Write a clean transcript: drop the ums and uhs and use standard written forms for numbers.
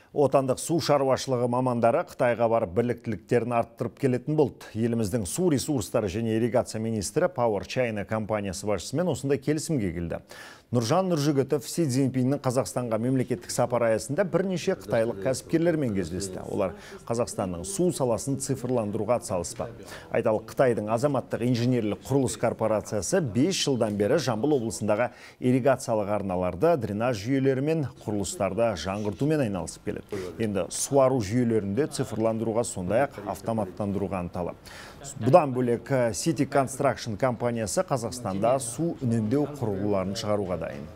Отандық су шаруашылығы мамандары Қытайға барып біліктіліктерін арттырып келетін болды. Еліміздің су ресурстары және ирригация министрі Power China компаниясы басшысымен осындай келісімге келді. Нұржан Нұржігітов Си Цзиньпиннің Қазақстанға мемлекеттік сапар аясында бірнеше қытайлық кәсіпкерлермен кездесті. Олар Қазақстанның су саласын цифрландыруға атсалыспақ. Айталық, Қытайдың азаматтық инженерлік құрылыс корпорациясы 5 жылдан бері Жамбыл облысындағы ирригациялық арналарды, дренаж жүйелері мен құрылыстарды жаңғыртумен айналысып келеді. Енді суару жүйелерінде цифрландыруға, сондай-ақ автоматтандыруға ынталы. Бұдан бөлек City Construction компаниясы Қазақстанда су үнемдеу құрылғыларын шығаруға дайын.